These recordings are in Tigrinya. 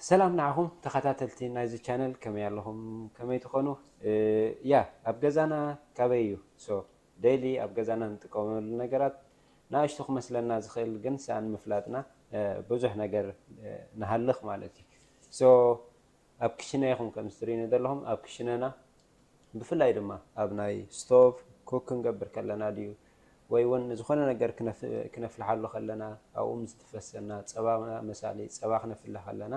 ሰላም ንዓኹም ተኸታተልቲ ናይዚ ቻነል፣ ከመይ ኣለኹም? ከመይ ትኾኑ? እ፣ ያ፣ ኣብ ገዛና ካበይ እዩ? ሶ፣ ዴይሊ ኣብ ገዛና እንጥቀመሉ ነገራት ንኣሽቱ ክመስለና ዝኽእል፣ ግን ሰኣን ምፍላጥና፣ እ፣ ብዙሕ ነገር፣ እ፣ ንሃልኽ ማለት እዩ። ሶ፣ ኣብ ክሽነ ኢኹም ከም እትርእዩኒ ዘለኹም፣ ኣብ ክሽነና ብፍላይ ድማ ኣብ ናይ ስቶቭ ኩክ ክንገብር ከለና ድዩ፣ ወይ እውን ዝኾነ ነገር ክነፍ-፣ ክነፍልሓሉ ከለና፣ ኣብኡ ምስ ዝፈሰና ጸባ መሳሊ፣ ጸባ ክነፍልሕ ከለና፣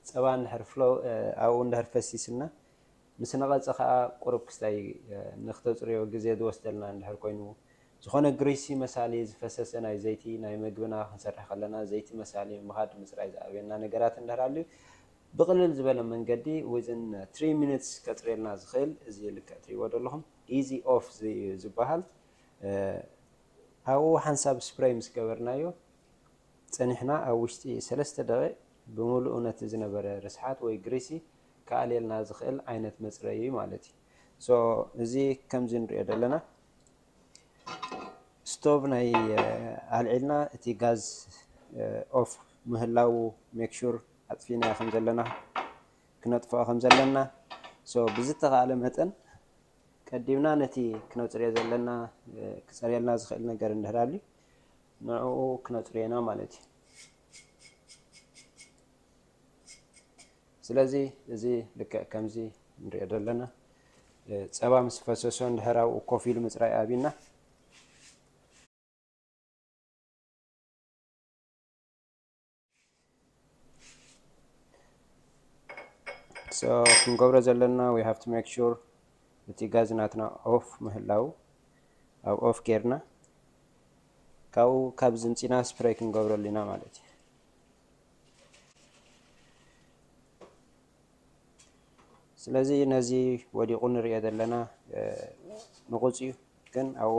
ጸባ እንድሕር ፍሎ-፣ እ፣ ኣብኡ እንድሕር ፈሲስና፣ ምስ ነቐጸ ኸኣ ቁሩብ ክስታይ፣ እ፣ ንክተጽርዮ ግዜ ዝወስደልና እንድሕር ኮይኑ፣ ዝኾነ ግሪሲ መሳሊ ዝፈሰሰ ናይ ዘይቲ፣ ናይ መግብና ክንሰርሕ ከለና ዘይቲ መሳሊ ምኻድ ምጽራይ ዝኣብየና ነገራት እንድሕር ኣልዩ፣ ብቕልል ዝበለ መንገዲ፣ within three minutes ከጽርየልና ዝኽእል፣ እዚ ልክዕ ትሪእዎ ዘለኹም ኢዚ ኦፍ ዝ-፣ ዝበሃል። እ፣ ኣብኡ ሓንሳብ ስፕሬይ ምስ ገበርናዮ፣ ጸኒሕና ኣብ ውሽጢ ሰለስተ ደቂቕ ብምሉኡ ነቲ ዝነበረ ርስሓት ወይ ግሪሲ ክኣልየልና ዝኽእል ዓይነት መጽረዪ ማለት እዩ። ሶ፣ እዚ ከምዚ ንሪኦ ዘለና፣ ስቶቭ ናይ፣ እ፣ ኣልዒልና፣ እቲ ጋዝ፣ እ፣ ኦፍ ምህላዉ ሜክ ሹር ኣጥፊእናዮ ከም ዘለና፣ ክነጥፍኦ ከም ዘለና። ሶ፣ ብዝተኻእለ መጠን ቀዲምና ነቲ ክነጽርዮ ዘለና፣ እ፣ ክጸርየልና ዝኽእል ነገር እንድሕር ኣልዩ፣ ንዕኡ ክነጽርዮ ኢና ማለት እዩ። ስለዚ እዚ ልክዕ ከምዚ ንሪኦ ዘለና፣ እ፣ ጸባ ምስ ፈሰሶ እንድሕር ኣብኡ ኮፍ ኢሉ ምጽራይ ኣብዩና። ሶ፣ ክንገብሮ ዘለና፣ we have to make sure እቲ ጋዝ ናትና ኦፍ ምህላው፣ ኣብ ኦፍ ጌርና፣ ካብኡ ካብ ዝምጺና ስፕሬይ ክንገብረሉ ኢና ማለት እዩ። ስለዚ ነዚ ወዲቑ ንሪኦ ዘለና፣ እ፣ ንቑጽ እዩ፣ ግን ኣብኡ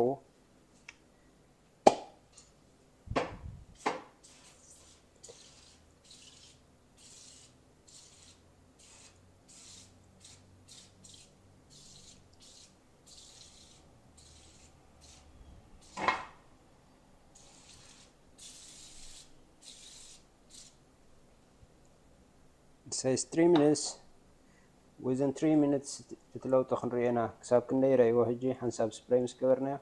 It says three minutes. Within three minutes እቲ ለውጢ ክንሪኦ ኢና። ክሳብ ክንደይ ረእይዎ ሕጂ ሓንሳብ ስፕሬይ ምስ ገበርናዮ፣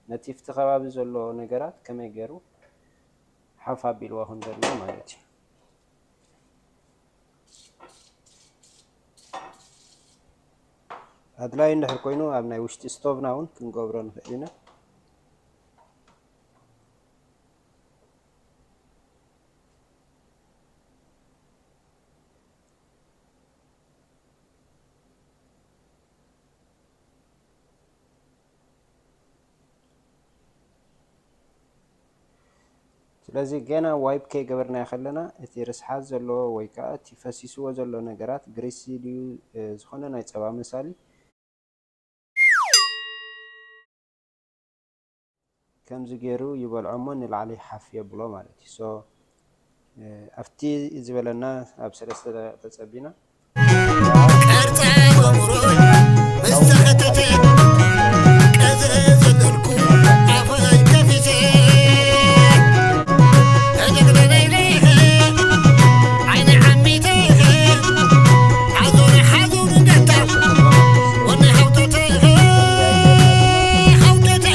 ነቲ ፍቲ ከባቢ ዘሎ ነገራት ከመይ ገይሩ ሓፍ ኣቢልዎ ከም ዘሎ ማለት እዩ። ኣድላይ እንድሕር ኮይኑ፣ ኣብ ናይ ውሽጢ ስቶቭና እውን ክንገብሮ ንኽእል ኢና። ስለዚ ገና ዋይፕ ከይገበርናዮ ከለና፣ እቲ ርስሓት ዘለዎ ወይ ከኣ እቲ ፈሲስዎ ዘሎ ነገራት ግሪሲ ድዩ፣ እ፣ ዝኾነ ናይ ጸባ መሳሊ፣ ከምዚ ገይሩ ይበልዖ እሞ ንላዕሊ ሓፍ የብሎ ማለት እዩ። ሶ፣ እ፣ ኣብቲ ዝበለና ኣብ ሰለስተ ደቂቕ ተጸቢና። ቅርጸ ጎምሮይ ምስ ተኸተተ፣ ቀዝረ ዘለልኩ ኣፈይ ከፊተ፣ ተደግደለይለይ ዓይኒ ዓሚተ፣ ሓዞነ ሓዞኑ ገታ፣ ወነ ሓውተተ፣ ሓውተተ፣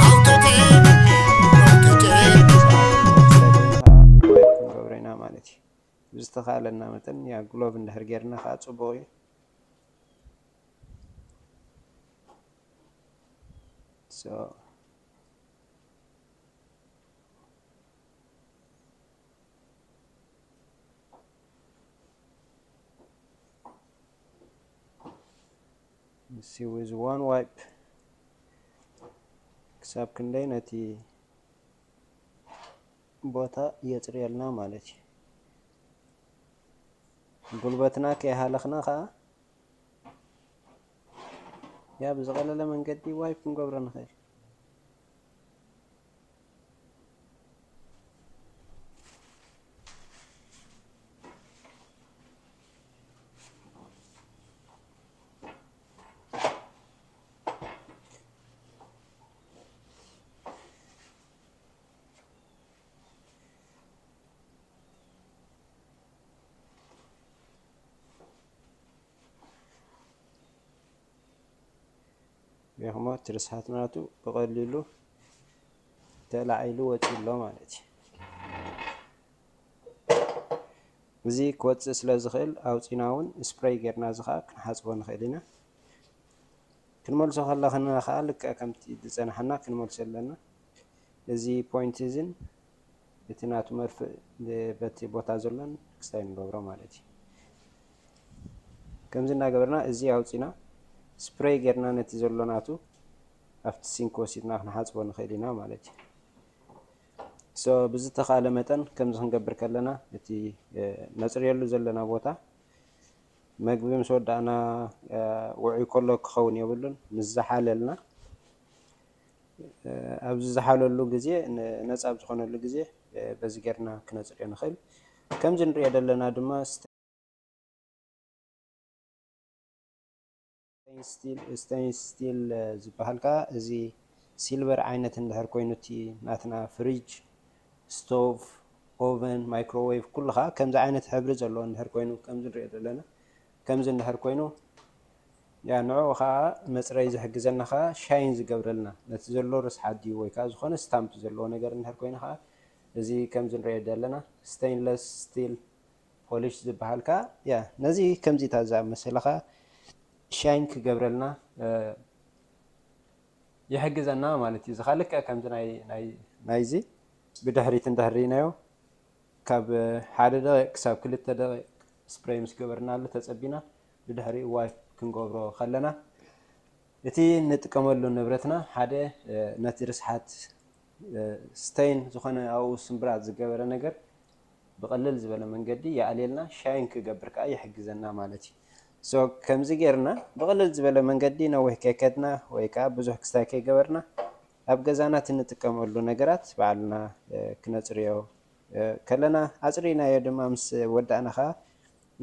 ሓውተተ፣ ሓውተተ። ክንገብሮ ኢና ማለት እዩ። ብዝተኻእለና መጠን፣ ያ፣ ግሎቭ እንድሕር ጌርና ከዓ ጽቡቕ እዩ። So፣ see with one wipe ክሳብ ክንደይ ነቲ ቦታ የጽርየልና ማለት እዩ። ጉልበትና ከይሃለኽና ኸኣ፣ ያ፣ ብዝቐለለ መንገዲ ዋይፕ ክንገብሮ ንኽእል። ሪኢኹሞ፣ እቲ ርስሓት ናቱ ብቐሊሉ ተላዒሉ ወፂኡ ኣሎ ማለት እዩ። እዚ ክወፅእ ስለ ዝኽእል ኣውፂና እውን ስፕሬይ ጌርና እዚ ከዓ ክንሓፅቦ ንኽእል ኢና። ክንመልሶ ከለና ከዓ ልክዕ ከምቲ ዝፀናሕና ክንመልሶ ኣለና። እዚ ፖይንት እዚን እቲ ናቱ መርፍእ በቲ ቦታ ዘሎን ክስታይ ንገብሮ ማለት እዩ። ከምዚ እናገበርና እዚ ኣውፂና ስፕሬይ ጌርና ነቲ ዘሎ ናቱ ኣብቲ ሲንክ ወሲድና ክንሓፅቦ ንኽእል ኢና ማለት እዩ። ሶ ብዝተኻለ መጠን ከምዚ ክንገብር ከለና እቲ ነፅርየሉ ዘለና ቦታ መግቢ ምስ ወዳእና ውዑይ ከሎ ክኸውን የብሉን። ምስ ዝሓለልና ኣብዚ ዝሓለሉ ግዜ፣ ነፃ ኣብ ዝኾነሉ ግዜ በዚ ጌርና ክነፅርዮ ንኽእል። ከምዚ ንሪኦ ዘለና ድማ ስቴንለስ ስቲል ዝበሃል ከዓ እዚ ሲልቨር ዓይነት እንድሕር ኮይኑ እቲ ናትና ፍሪጅ፣ ስቶቭ፣ ኦቨን፣ ማይክሮዌቭ ኩሉ ከዓ ከምዚ ዓይነት ሕብሪ ዘለዎ እንድሕር ኮይኑ ከምዚ ንሪኦ ዘለና ከምዚ እንድሕር ኮይኑ ያ ንዕኡ ከዓ መፅረይ ዝሕግዘና ከዓ ሻይን ዝገብረልና ነቲ ዘሎ ርስሓት ድዩ ወይ ከዓ ዝኾነ ስታምፕ ዘለዎ ነገር እንድሕር ኮይኑ ከዓ እዚ ከምዚ ንሪኦ ዘለና ስቴንለስ ስቲል ፖሊሽ ዝበሃል ከዓ ያ ነዚ ከምዚ እታ ዝኣመሰለ ከዓ ሻይን ክገብረልና ይሕግዘና ማለት እዩ። እዚ ከዓ ልክዕ ከምዚ ናይ ናይዚ ብድሕሪት እንድሕር ርኢናዮ ካብ ሓደ ደቂቕ ክሳብ ክልተ ደቂቕ ስፕሬይ ምስ ገበርናሉ ተፀቢና ብድሕሪኡ ዋይፕ ክንገብሮ ከለና እቲ እንጥቀመሉ ንብረትና ሓደ ነቲ ርስሓት ስቴን ዝኾነ ኣብኡ ስምብራት ዝገበረ ነገር ብቐለል ዝበለ መንገዲ ይኣልየልና፣ ሻይን ክገብር ከዓ ይሕግዘና ማለት እዩ። ሶ ከምዚ ጌርና ብቐለል ዝበለ መንገዲ ነዊሕ ከይከድና ወይ ከዓ ብዙሕ ክስታይ ከይገበርና ኣብ ገዛና እቲ እንጥቀመሉ ነገራት ባዕልና ክነፅርዮ ከለና ኣፅሪናዮ ድማ ምስ ወዳእና ከዓ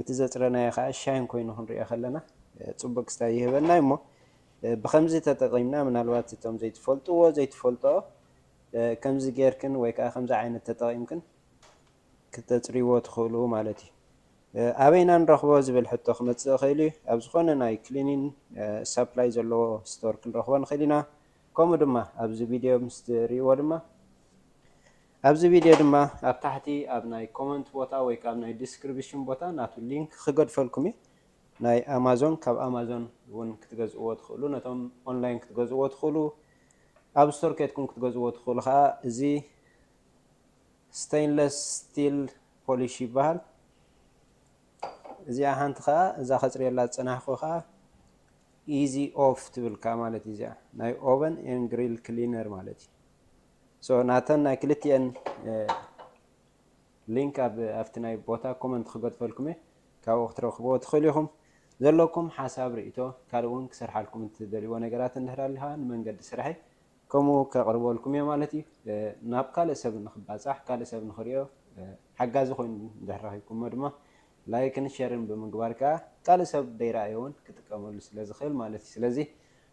እቲ ዘፅረናዮ ከዓ ሻይን ኮይኑ ክንሪኦ ከለና ፅቡቅ ክስታይ ይህበና እሞ ብከምዚ ተጠቂምና ምናልባት እቶም ዘይትፈልጥዎ ዘይትፈልጦ ከምዚ ጌርክን ወይ ከዓ ከምዚ ዓይነት ተጠቂምክን ክተፅርይዎ ትኽእሉ ማለት እዩ። ኣበይና ንረኽቦ ዝብል ሕቶ ክመፅእ ይኽእል እዩ። ኣብ ዝኾነ ናይ ክሊኒን ሳፕላይ ዘለዎ ስቶር ክንረኽቦ ንኽእል ኢና። ከምኡ ድማ ኣብዚ ቪድዮ ምስ ትርእይዎ ድማ ኣብዚ ቪድዮ ድማ ኣብ ታሕቲ ኣብ ናይ ኮመንት ቦታ ወይ ከዓ ኣብ ናይ ዲስክሪፕሽን ቦታ ናቱ ሊንክ ክገድፈልኩም እዩ። ናይ ኣማዞን ካብ ኣማዞን እውን ክትገዝእዎ ትኽእሉ፣ ነቶም ኦንላይን ክትገዝእዎ ትኽእሉ፣ ኣብ ስቶር ኬድኩም ክትገዝእዎ ትኽእሉ ከዓ እዚ ስቴንለስ ስቲል ፖሊሽ ይበሃል። እዚኣ ሓንቲ ከዓ እዛ ከፅርየላ ዝፀናሕኩ ከዓ ኢዚ ኦፍ ትብል ከዓ ማለት እዩ። እዚኣ ናይ ኦቨን ኤን ግሪል ክሊነር ማለት እዩ። ሶ ናተን ናይ ክልቲኤን ሊንክ ኣብቲ ናይ ቦታ ኮመንት ክገድፈልኩም እየ፣ ካብኡ ክትረኽብዎ ትኽእሉ ኢኹም። ዘለኩም ሓሳብ ርእቶ ካልእ እውን ክሰርሓልኩም እትደልይዎ ነገራት እንድሕር ኣልካ ንመንገዲ ስራሐይ ከምኡ ከቕርበልኩም እየ ማለት እዩ። ናብ ካልእ ሰብ ንክባፃሕ ካልእ ሰብ ንክሪኦ ሓጋዚ ኮይኑ እንድሕር ረኪብኩሞ ድማ ላይክን ሸርን ብምግባር ከዓ ካልእ ሰብ ደይረኣዮ እውን ክጥቀመሉ ስለ ዝኽእል ማለት እዩ። ስለዚ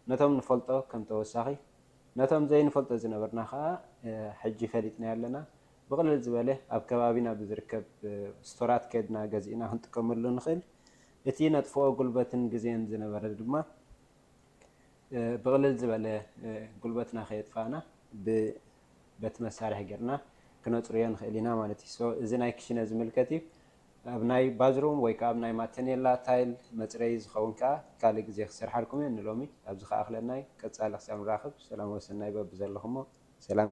ነቶም ንፈልጦ ከም ተወሳኺ ነቶም ዘይንፈልጦ ዝነበርና ከዓ ሕጂ ፈሊጥና ኣለና። ብቕልል ዝበለ ኣብ ከባቢና ብዝርከብ ስቶራት ከድና ገዚእና ክንጥቀመሉ ንኽእል። እቲ ነጥፍኦ ጉልበትን ግዜን ዝነበረ ድማ ብቕልል ዝበለ ጉልበትና ከየጥፋእና በቲ መሳርሒ ጌርና ክነፅርዮ ንኽእል ኢና ማለት እዩ። እዚ ናይ ክሽነ ዝምልከት እዩ። ኣብ ናይ ባዝሩም ወይ ከዓ ኣብ ናይ ማተኔላ ታይል መፅረይ ዝኸውን ከዓ ካልእ ግዜ ክሰርሓልኩም እየ። ንሎሚ ኣብዚ ከኣኽለና እዩ። ቀፃሊ ክሳብ ንራኸብ ሰላም ወሰናይ በብዘለኹሞ ሰላም።